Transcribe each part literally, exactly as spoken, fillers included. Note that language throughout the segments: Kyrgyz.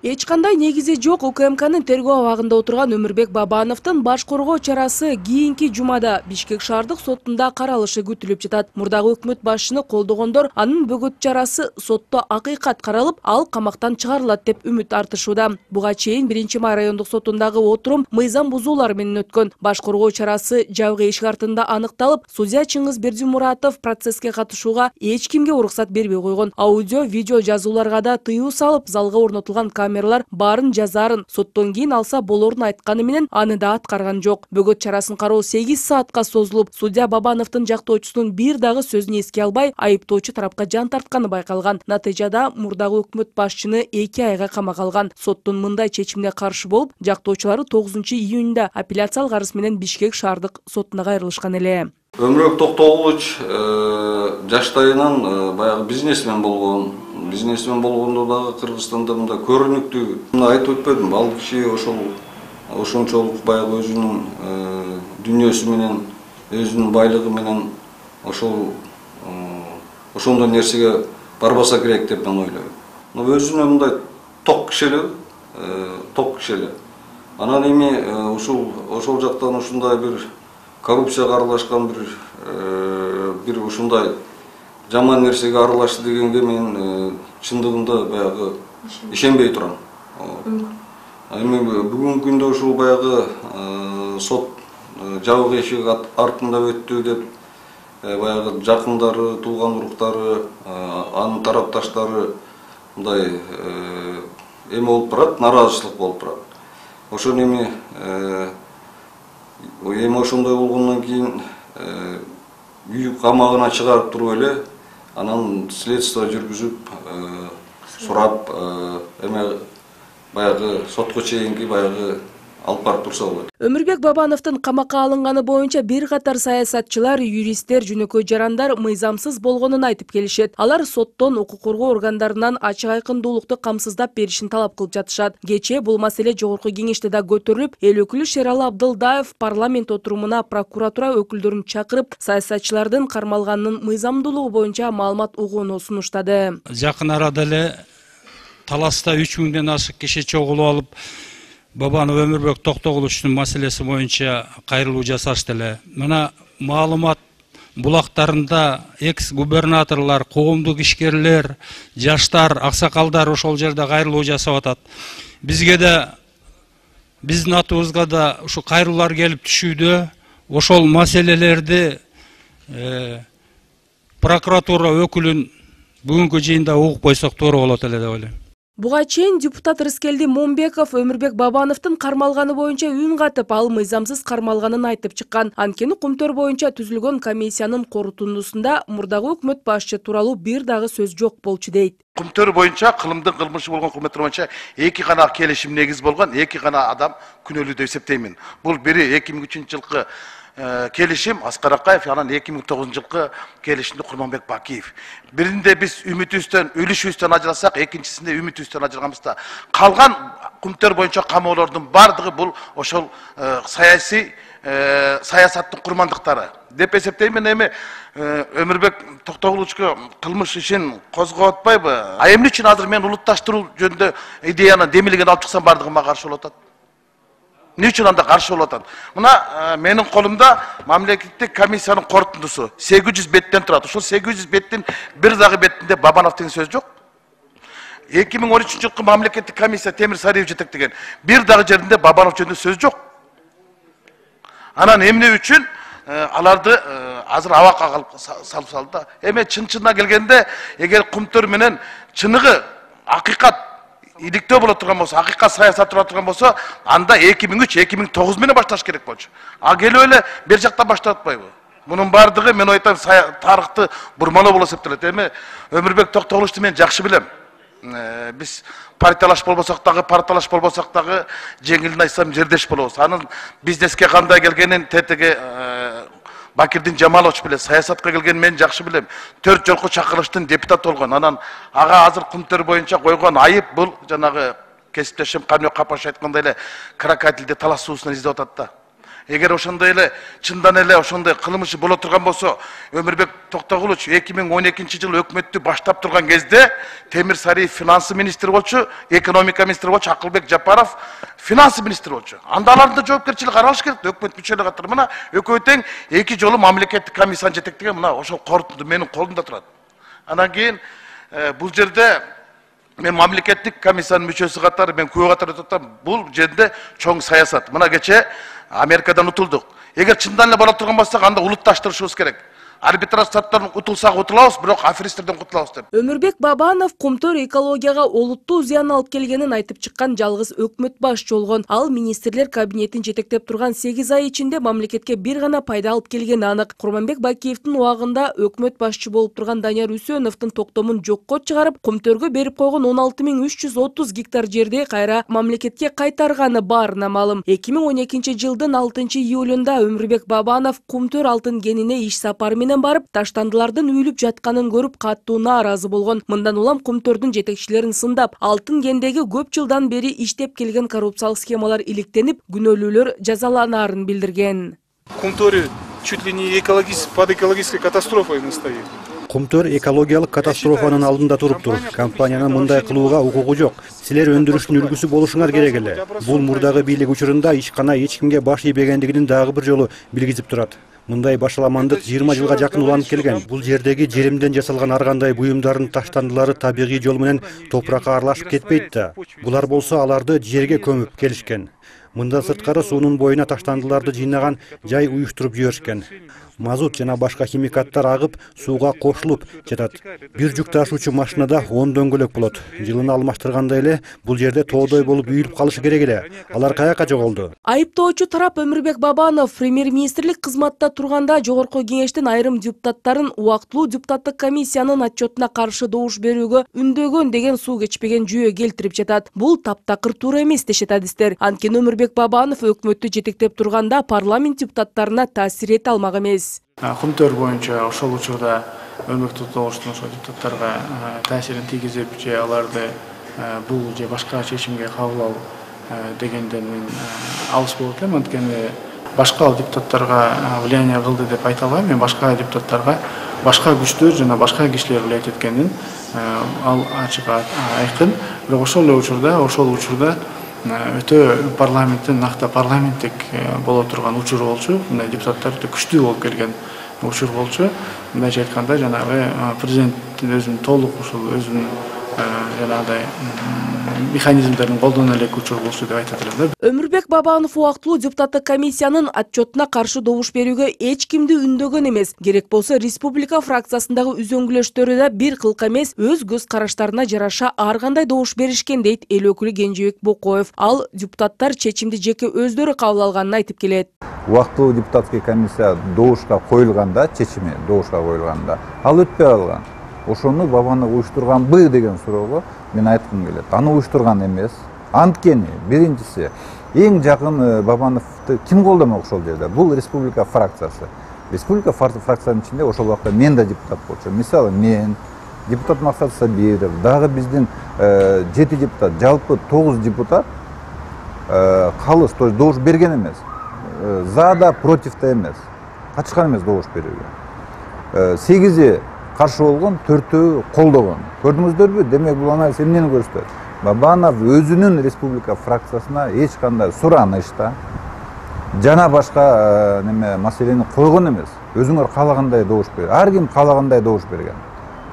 Эч кандай негизи жок УКМКнын тергөө абагында отурган Өмүрбек Бабановдун баш коргоо чарасы кийинки жумада Бишкек шаардык сотунда каралышы күтүлүп жатат. Мурдагы өкмөт башчыны колдогондор анын бөгөт чарасы сотто акыйкат каралып, ал камактан чыгарылат деп үмүт артышууда. Буга чейин биринчи май райондук сотундагы отурум мыйзам бузуулар менен өткөн. Баш коргоо чарасы жабык эшик артында аныкталып, судья Чыңгыз Бердимуратов процесске катышууга эч кимге уруксат бербей койгон. Аудио, видео жазууларга да тыюу салып, залга орнотулган камералар баарын жазарын, соттон кийин алса болорун айтканы менен аны да аткарган жок. Бөгөт чарасын кароо сегиз саатка созулуп, судья Бабановдун жактоочусунун бир дагы сөзүн эске албай, айыптоочу тарапка жан тартканы байкалган. Натыйжада мурдагы өкмөт башчыны эки айга камакка алган. Соттун мындай чечимине каршы болуп, жактоочулары тогузунчу июнда апелляциялык арыз менен Бишкек шаардык сотуна кайрылышкан эле. Өмүрбек Токтогулович жаштайынан баягы бизнесмен болгон. Бизнесмен болгондо дагы Кыргызстанда мында көрүнүктүү. Мына айтып өтпөдүм, ал киши ошол ошончолук баягы өзүнүн дүйнөсү менен, өзүнүн байлыгы менен ошол ошондой нерсеге барбаса керек деп мен ойлойм. Но өзүнө мындай ток киши эле, ток киши эле. Анан эми ушул ошол жактан ушундай бир коррупцияга аралашкан бир бир ушундай жаман нерсеге аралашты дегенге мен чындыгында баягы ишенбей турам. Эми бүгүнкү күндө ушул баягы сот жабык эшик артында өттү деп баягы жакындары, тууган уруктары, анын тарапташтары мындай эме болуп барат, нараазычылык болуп барат. Ошон эми эми ошондой болгондон кийин үй камагына чыгарып туруп эле анан следствие жүргүзүп сурап эме баягы сотко чейинки баягы алып барып турса болот. Өмүрбек Бабановдун камакка алынганы боюнча бир катар саясатчылар, юристтер, жөнөкөй жарандар мыйзамсыз болгонун айтып келишет. Алар соттон, укук коргоо органдарынан ачык айкындуулукту камсыздап беришин талап кылып жатышат. Кечээ бул маселе жогорку кеңеште да көтөрүлүп, эл өкүлү Шералы Абдылдаев парламент отурумуна прокуратура өкүлдөрүн чакырып, саясатчылардын кармалганынын мыйзамдуулугу боюнча маалымат угууну сунуштады. Жакын арада эле таласта үч миңден ашык киши чогулуп алып, Бабанов Өмүрбек Токтогуловичтун маселеси боюнча кайрылуу жасашты эле. Мына маалымат булактарында экс-губернаторлор, коомдук ишкерлер, жаштар, аксакалдар ошол жерде кайрылуу жасап атат. Бизге да, биздин атыбызга да ушу кайрылуулар келип түшүүдө. Ошол маселелерди прокуратура өкүлүн бүгүнкү жыйында угуп койсок туура болот эле деп ойлойм. Буга чейин депутат Рыскелди Момбеков Өмүрбек Бабановдун кармалганы боюнча үн катып, ал мыйзамсыз кармалганын айтып чыккан. Анткени Кумтөр боюнча түзүлгөн комиссиянын корутундусунда мурдагы өкмөт башчы тууралуу бир дагы сөз жок болчу дейт. Кумтөр боюнча кылымдын кылмышы болгон өкмөттөр боюнча эки гана келишим негиз болгон, эки гана адам күнөөлүү деп эсептеймин. Бул бири эки миң үчүнчү жылкы келишим Аскар Акаев, анан эки миң тогузунчу жылкы келишимде Курманбек Бакиев. Биринде биз үмүтүбүздөн, үлүшүбүздөн ажырасак, экинчисинде үмүтүбүздөн ажырганбызда. Калган Кумтөр боюнча камоолордун бардыгы бул ошол саясий саясаттын курмандыктары деп эсептеймин. Эми Өмүрбек Токтогуловичке кылмыш ишин козгоп атпайбы? А эмне үчүн азыр мен улутташтыруу жөнүндө идеяны демилген алып чыксам бардыгы мага каршы болуп атат? Эмне үчүн анда каршы болуп атат? Мына менин колумда мамлекеттик комиссиянын корутундусу сегиз жүз беттен турат. Ошол сегиз жүз беттин бир дагы бетинде Бабанов деген сөз жок. эки миң он үчүнчү жылкы мамлекеттик комиссия Темир Сариев жетектеген бир дагы жеринде Бабанов жөнүндө сөз жок. Анан эмне үчүн аларды азыр абакка салып салды да. Эми чын-чынына келгенде, эгер Кумтөр менен чыныгы акыйкат иликтөө боло турган болсо, акыйкат саясат тура турган болсо, анда эки миң үч эки миң тогуз менен башташ керек болчу. А келип эле бер жактан баштап атпайбы? Мунун бардыгы мен айтам тарыхты бурмалоо болуп эсептелет. Эми Өмүрбек Токтогуловичту мен жакшы билем. Биз партиялаш болбосок дагы, партиялаш болбосок дагы жеңилин айтсам жердеш болобуз. Анын бизнеске кандай келгенин тетиги Бакирдин Жамалович билет, саясатка келген мен жакшы билем. Төрт жолку чакырылыштын депутат болгон. Анан ага азыр Кумтөр боюнча койгон айып бул жанагы кесиптешим Каныбек Капаш айткандай эле крокодилди талас суусунан издеп атат да. Эгер ошондой эле чындан эле ошондой кылмышы боло турган болсо, Өмүрбек Токтогулович эки миң он экинчи жылы өкмөттү баштап турган кезде Темир Сариев финансы министри болчу, экономика министри болчу, Акылбек Жапаров финансы министри болчу. Анда алардын да жоопкерчилиги каралыш керек. Өкмөт мүчөлүгү катары мына экөө тең эки жолу мамлекеттик комиссияны жетектеген мына ошол корутунду менин колумда турат. Анан кийин бул жерде мен мамлекеттик комиссиянын мүчөсү катары мен күбө катары отурам. Бул жерде чоң саясат. Мына кече Америкадан утулдук. Эгер чындан эле боло турган болсок, анда улутташтырышыбыз керек. Арбитраж шарттарынан утулсак утулабыз, бирок аферисттерден кутулабыз деп. Өмүрбек Бабанов Кумтөр экологияга олуттуу зыян алып келгенин айтып чыккан жалгыз өкмөт башчы болгон. Ал министрлер кабинетин жетектеп турган сегиз ай ичинде мамлекетке бир гана пайда алып келгени анык. Курманбек Бакиевдин убагында өкмөт башчы болуп турган Данияр Үсөновдун токтомун жокко чыгарып, Кумтөргө берип койгон он алты миң үч жүз отуз гектар жерди кайра мамлекетке кайтарганы баарына маалым. эки миң он экинчи жылдын алтынчы июлунда Өмүрбек Бабанов Кумтөр алтын кенине иш сапары менен барып, таштандылардын үйлүп жатканын көрүп катуу нааразы болгон. Мындан улам Кумтөрдүн жетекчилерин сындап, алтын кендеги көп жылдан бери иштеп келген коррупциялык схемалар иликтенип, күнөөлүүлөр жазаланаарын билдирген. Кумтөр чуть ли не экологический, под экологической катастрофой стоит. Кумтөр экологиялык катастрофанын алдында туруптур. Компаниянын мындай кылууга укугу жок. Силер өндүрүштүн үлгүсү болушуңар керек эле. Бул мурдагы бийлик учурунда ишкана эч кимге баш ийбегендигинин дагы бир жолу билгизип турат. Мындай башаламандык жыйырма жылга жакын уланып келген. Бул жердеги жеримден жасалган ар кандай буюмдардын таштандылары табигый жол менен топуракка аралашып кетпейт да. Булар болсо аларды жерге көмүп келишкен. Мындан сырткары суунун боюна таштандыларды жыйнаган жай уюштуруп жиберишкен. Мазут жана башка химикаттар агып, сууга кошулуп жатат. Бир жүк ташуучу машинада он дөңгөлөк болот. Жылына алмаштыргандай эле бул жерде тоодой болуп үйүлүп калышы керек эле. Алар каяка жоголду? Айыптоочу тарап Өмүрбек Бабанов премьер-министрлик кызматта турганда Жогорку Кеңештин айрым депутаттарын убактылуу депутаттык комиссиянын отчетуна каршы добуш берүүгө үндөгөн деген суу кечпеген жүйө келтирип жатат. Бул таптакыр туура эмес дешет адистер. Анткени Өмүрбек Бабанов өкмөттү жетектеп турганда парламент депутаттарына таасир эте алмак эмес. Кумтөр боюнча ошол учурда Өмүрбек Токтогуловдун ошол депутаттарга таасирин тийгизип же аларды бул же башка чечимге кабыл алуу дегенден мен алыс болот элем. Анткени башка депутаттарга влияние кылды деп айта албайм. Мен башка депутаттарга башка күчтөр жана башка кишилер влиять эткенин ал ачык айкын. Бирок ошол эле учурда, ошол учурда өтө парламенттин накта парламенттик боло турган учур болчу. Мындай депутаттар өтө күчтүү болуп келген учур болчу. Мындайча айтканда жанагы президенттин өзүнүн толук ушул өзүнүн жанагындай механизмдерин колдоно элек учур болчу деп айтат элем да. Өмүрбек Бабанов убактылуу депутаттык комиссиянын отчетуна каршы добуш берүүгө эч кимди үндөгөн эмес. Керек болсо республика фракциясындагы үзөңгүлөштөрү да бир кылка эмес, өз көз караштарына жараша ар кандай добуш беришкен дейт эл өкүлү Кенжебек Бокоев. Ал депутаттар чечимди жеке өздөрү кабыл алганын айтып келет. Убактылуу депутаттык комиссия добушка коюлганда, чечими добушка коюлганда ал өтпөй калган. Ошону Бабанов уюштурганбы деген суроого мен айткым келет. Аны уюштурган эмес. Анткени биринчиси эң жакын Бабановду ким колдомок ошол жерде? Бул республика фракциясы. Республика фракциясынын ичинде ошол убакта мен да депутат болчумун. Мисалы мен, депутат Максат Сабиров, дагы биздин жети депутат, жалпы тогуз депутат калыс, то есть добуш берген эмес. За да против да эмес. Катышкан эмес добуш берүүгө. сегизи каршы болгон, төртөө колдогон. Көрдүңүздөрбү? Демек бул анализ эмнени көрсөтөт? Бабанов өзүнүн республика фракциясына эч кандай суранышта жана башка неме маселени койгон эмес. Өзүңөр каалагандай добуш берген. Ар ким каалагандай добуш берген.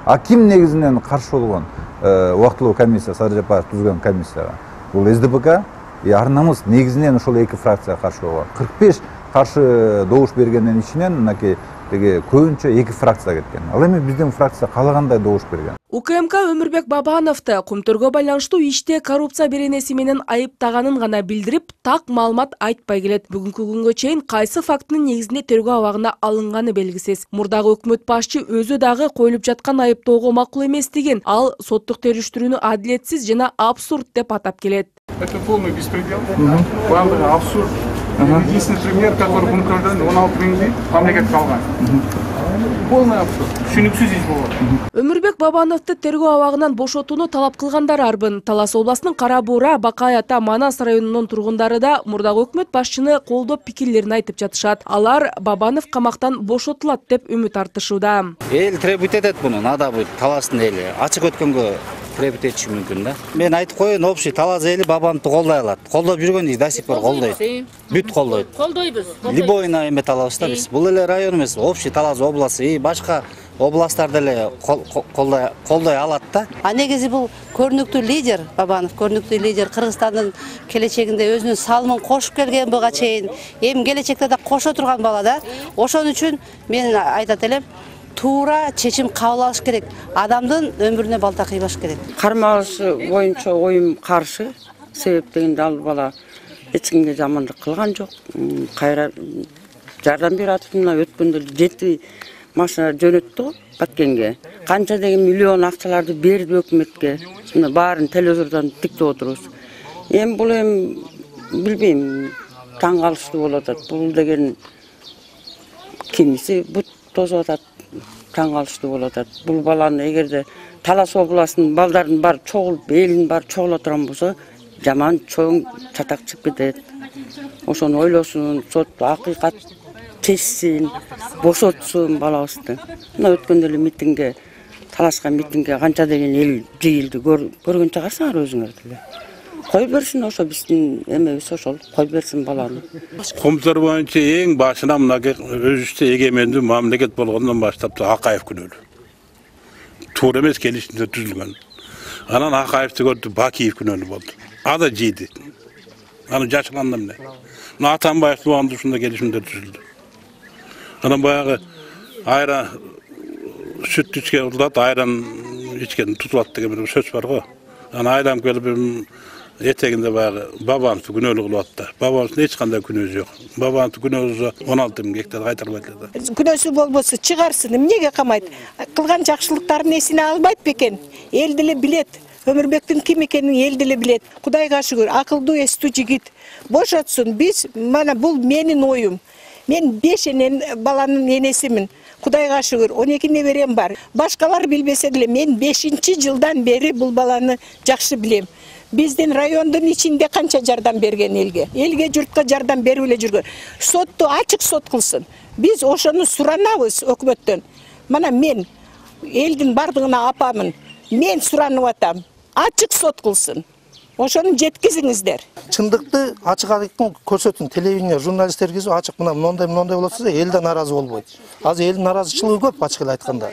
А ким негизинен каршы болгон? Убактылуу комиссия, Садыр Жапаров түзгөн комиссияга. Бул эс дэ пэ ка и ар намыс негизинен ошол эки фракция каршы болгон. кырк беш каршы добуш бергендин ичинен мынакей деге көбүнчө эки фракция кеткен. Ал эми биздин фракция каалагандай добуш берген. У ка эм ка Өмүрбек Бабановду Кумтөргө байланыштуу иште коррупция беренеси менен айыптаганын гана билдирип, так маалымат айтпай келет. Бүгүнкү күнгө чейин кайсы фактынын негизинде тергөө абагына алынганы белгисиз. Мурдагы өкмөт башчы өзү дагы коюлуп жаткан айыптоого макул эместигин, ал соттук териштирүүнү адилетсиз жана абсурд деп атап келет. Это полный беспредел, баардыгы абсурд. Единственный пример, который Кумтөрдөн он алты миңди мамлекетке алган. полный абсурд, түшүнүксүз иш болот. Өмүрбек Бабановду тергөө абагынан бошотууну талап кылгандар арбын. Талас областынын Кара Буура, Бакай ата, Манас районунун тургундары да мурдагы өкмөт башчыны колдоп пикирлерин айтып жатышат. Алар Бабанов камактан бошотулат деп үмүт артышууда. Эл требут этет буну, надо будет Таластын эли. Ачык өткөнгө требут этиши мүмкүн да. Мен айтып коеюн, общий Талас эли Бабановду колдой алат. Колдоп жүргөн до сих пор колдойт. Бүт колдойт. Колдойбуз. Любойна эме талабыз да биз. Бул эле район эмес, общий Талас областы и башка областтар деле колдой колдой алат да. А негизи бул көрүнүктүү лидер, Бабанов көрүнүктүү лидер, Кыргызстандын келечегинде өзүнүн салымын кошуп келген буга чейин, эми келечекте да кошо турган бала да. Ошон үчүн мен айтат элем, туура чечим кабыл алыш керек. Адамдын өмүрүнө балта кыйбаш керек. Кармалышы боюнча оюм каршы. Себеп дегенде ал бала эч кимге жамандык кылган жок. Кайра жардам берип атып, мына өткөндө жети машина жөнөттү го Баткенге. Канча деген миллион акчаларды берди өкмөткө. Мына баарын телевизордон тиктеп отурубуз. Эми бул эми билбейм, таң калыштуу болуп атат. Бул деген кимиси бут тосуп атат. Таң калыштуу болуп атат. Бул баланы эгерде Талас областынын балдарын бар чогулуп, элин бар чогула турган болсо, жаман чоң чатак чыгып кетет. Ошону ойлосун, сот акыйкат чечсин, бошотсун балабызды. Мына өткөндө эле митингге, Таласка митингге канча деген эл жыйылды, көргөн чыгарсыңар өзүңөр деле. Кой берсин, ошо биздин эмебиз ошол, кой берсин баланы. Комуттар боюнча эң башына мына өзүбүздө эгемендүү мамлекет болгондон баштап Акаев күнөөлүү. Туура эмес келишимде түзүлгөн. Анан Акаевди көрдү, Бакиев күнөөлүү болду. Ада жийди. Аны жашыганда эмне? Мына Атамбаев тууганды ушундай келишимде түзүлдү. Анан баягы айран сүт ичкен утулат, айран ичкен тутулат деген сөз бар го. Анан айран келип этегинде баягы Бабановду күнөөлүү кылып атты. Бабановдун эч кандай күнөөсү жок. Бабановдун күнөөсү он алты миң гектар кайтарылбайт эле. Күнөөсү болбосо чыгарсын, эмнеге камайт? Кылган жакшылыктарын эсине албайт бекен? Эл деле билет. Өмүрбектин ким экенин эл деле билет. Кудайга шүгүр, акылдуу, эстүү жигит. Бошотсун. Биз мана бул менин оюм. Мен беш энен баланын энесимин. Кудайга шүгүр, он эки неберем бар. Башкалар билбесе деле мен бешинчи жылдан бери бул баланы жакшы билем. Биздин райондун ичинде канча жардам берген элге. Элге, журтка жардам берип эле жүргөн. Сотту ачык сот кылсын. Биз ошону суранабыз өкмөттөн. Мана мен элдин бардыгына апамын. Мен суранып атам. Ачык сот кылсын. Ошону жеткизиңиздер. Чындыкты ачык айкын көрсөтүн. Телевидение журналисттерге ачык мына мондай мондай болот десе, эл да нааразы болбойт. Азыр элдин нааразычылыгы көп ачык эле айтканда.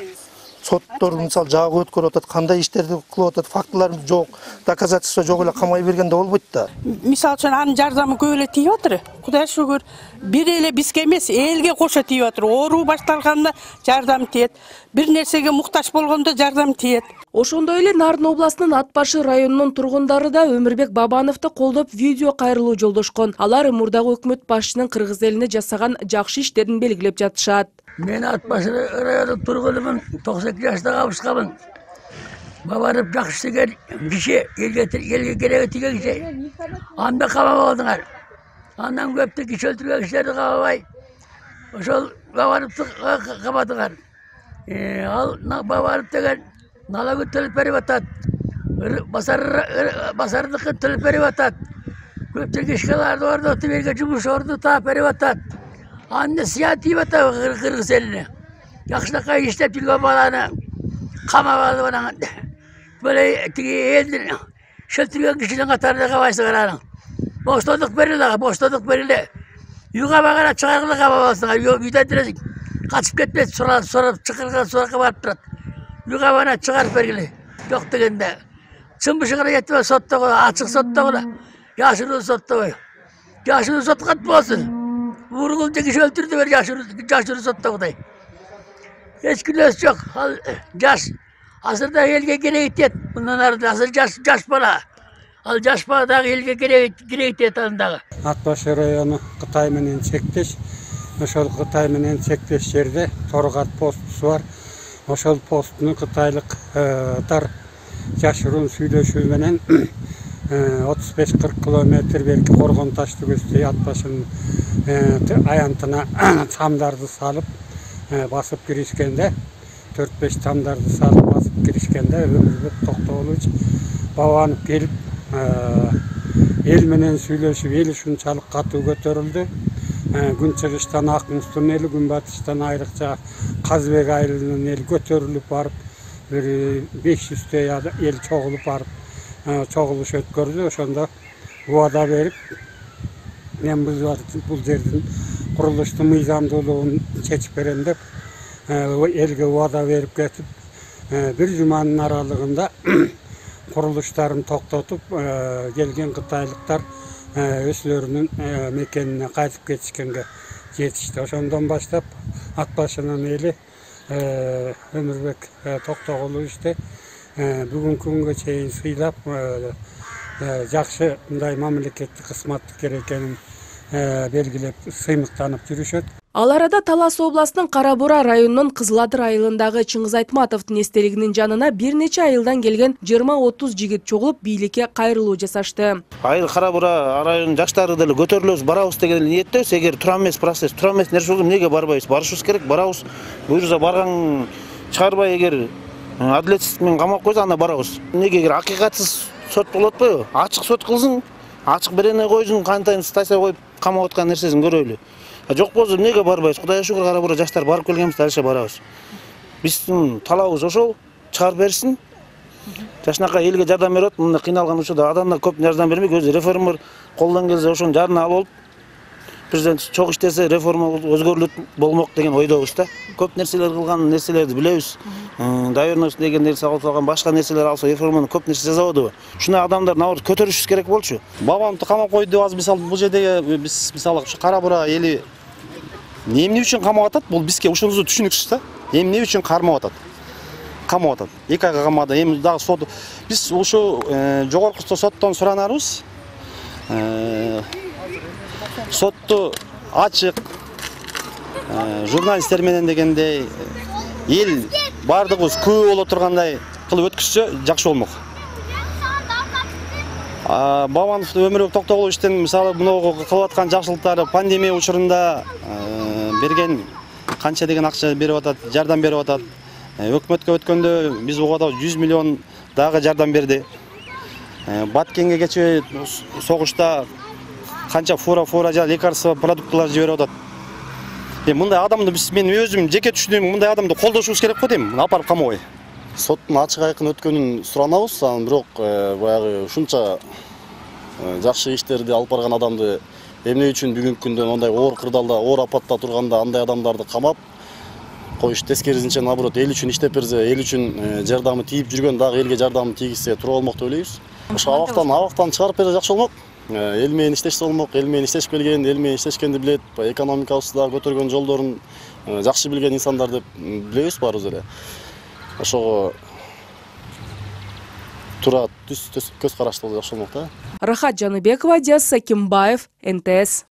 Соттор мисал жагы өткөрүп атат, кандай иштерди кылып атат, фактылар жок, доказательство жок эле камай бергенде болбойт да. Мисал үчүн анын жардамы көп эле тийип атыр. Кудай шүгүр, бир эле бизге эмес, элге кошо тийип атыр. Оору башталганда жардам тиет, бир нерсеге муктаж болгондо жардам тиет. Ошондой эле Нарын областынын Ат башы районунун тургундары да Өмүрбек Бабановду колдоп видео кайрылуу жолдошкон. Алар мурдагы өкмөт башчынын кыргыз элине жасаган жакшы иштерин белгилеп жатышат. Мен Ат башы районунун тургунумун, токсон эки жаштагы абышкамын. Бабанов жакшы деген киши, элге элге кереги тийген киши. Анда камабадыңар. Андан көптү киши өлтүргөн кишилерди камабай. Ошол Бабановду камадыңар. Ал Бабанов деген налогун төлөп берип атат. Басардыкын төлөп берип атат. Көптөгөн ишкаларды орнотуп элге жумуш орду таап берип атат. Аны зыян тийип атат кыргыз элине. Жакшынакай иштеп жүргөн баланы камап алып анан бөлө тиги элдин шөлтүргөн кишинин катарына кабайсыңар анан. Боштондук бериле, боштондук бериле. Үйгө багара чыгаргыла камап алсаңар, үйдөн деле качып кетпес, сурап сурап чакырган суракка барып турат. Үйгө бана чыгарып бергиле. Жок дегенде. Чымбышыгына жетпей соттогу, ачык соттогу, жашыруу соттогу. Жашыруу соткат болсун. Ургул киши өлтүрдү бер жашыруу жашыруу соттогудай. Эч күнөөсү жок. Ал жаш. Азырда элге кереги тиет. Мындан ары азыр жаш жаш бала. Ал жаш бала дагы элге кереги кереги тиет андагы. Ат башы району Кытай менен чектеш. Ошол Кытай менен чектеш жерде Торгат постусу бар. Ошол посттун кытайлыктар жашыруун сүйлөшүү менен отуз беш кырк километр берки Коргон таш түбөсү Ат башынын аянтына самдарды салып, басып киришкенде төрт беш тамдарды салып басып киришкенде Өмүрбек Токтогулович Бабанов келип эл менен сүйлөшүп, эл ушунчалык катуу көтөрүлдү. Күн чыгыштан Акмустун эли, күн батыштан айрыкча Казбек айылынын эли көтөрүлүп барып, бир беш жүздөй эл чогулуп барып, чогулуш өткөрдү. Ошондо убада берип, мен бул жердин курулуштун мыйзамдуулугун чечип берем деп элге убада берип кетип, бир жуманын аралыгында курулуштарын токтотуп, келген кытайлыктар өзлөрүнүн мекенине кайтып кетишкенге жетишти. Ошондон баштап ат башынын эли Өмүрбек Токтогуловичти бүгүнкү күнгө чейин сыйлап, жакшы мындай мамлекеттик кызматкер экенин белгилеп, сыймыктанып жүрүшөт. Ал арада Талас областынын Кара Бура районунун Кызыл Адыр айылындагы Чыңгыз Айтматовдун эстелигинин жанына бир нече айылдан келген жыйырма отуз жигит чогулуп, бийликке кайрылуу жасашты. Айыл Кара Бура районунун жаштары деле көтөрүлөбүз, барабыз деген ниеттебиз. Эгер тура эмес процесс, тура эмес нерсе болсо эмнеге барбайбыз? Барышыбыз керек, барабыз. Буюрса барган чыгарбай, эгер адилетсиздик менен камап койсо, анда барабыз. Эмнеге эгер акыйкатсыз сот болот атпайбы? Ачык сот кылсын, ачык берене койсун, кантайын стация коюп камап аткан нерсесин көрөлү. Жок болсо эмнеге барбайбыз? Кудайга шүгүр, Кара Бура жаштар барып келгенбиз, дальше барабыз. Биздин талабыбыз ошол, чыгарып берсин. Жашынакай элге жардам берип, мындай кыйналган учурда адамдар көп жардам бермейт. Өзү реформер колдон келсе ошонун жарына алып, президент чок иштесе реформа өзгөрүлөт болмок деген ойдобуз да. Көп нерселер кылган нерселерди билебиз. Доверенность деген нерсе алып калган, башка нерселер алса реформаны көп нерсе жасабадыбы? Ушундай адамдар наоборот көтөрүшүбүз керек болчу. Бабановду камап койду деп азыр мисалы бул жердеги биз мисалы ушу Кара Бура эли эмне үчүн камап атат? Бул бизге ушунусу түшүнүксүз да. Эмне үчүн кармап атат? Камап атат. эки айга камады. Эми дагы сот биз ушу жогорку соттон суранарбыз. Сотту ачык журналисттер менен дегендей эл бардыгыбыз күбө боло тургандай кылып өткүзсө жакшы болмок. Бабанов Өмүрбек Токтогуловичтин мисалы мынау кылып аткан жакшылыктары пандемия учурунда берген канча деген акча берип атат, жардам берип атат. Өкмөткө өткөндө биз угада жүз миллион дагы жардам берди. Баткенге кечээ согушта канча фура фура жа лекарство продукталар жиберип атат. Эми мындай адамды биз мен өзүм жеке түшүнөм, мындай адамды колдошубуз керек го дейм, апарып камабай. Соттун ачык айкын өткөнүн суранабыз, анан бирок баягы ушунча жакшы иштерди алып барган адамды эмне үчүн бүгүнкү күндө мындай оор кырдаалда, оор апатта турганда андай адамдарды камап коюш, тескерисинче наоборот эл үчүн иштеп берсе, эл үчүн жардамы тийип жүргөн дагы элге жардамы тийгизсе туура болмок деп ойлойбуз. Ошо абактан абактан чыгарып берсе жакшы болмок. Эл менен иштешсе болмок, эл менен иштешип келген, эл менен иштешкенди билет, экономикабызды дагы көтөргөн жолдорун жакшы билген инсандар деп билебиз баарыбыз эле. Ошого тура түз көз карашты жакшы болмок да. Рахат Жаныбекова, Диас Сакимбаев, эн тэ эс.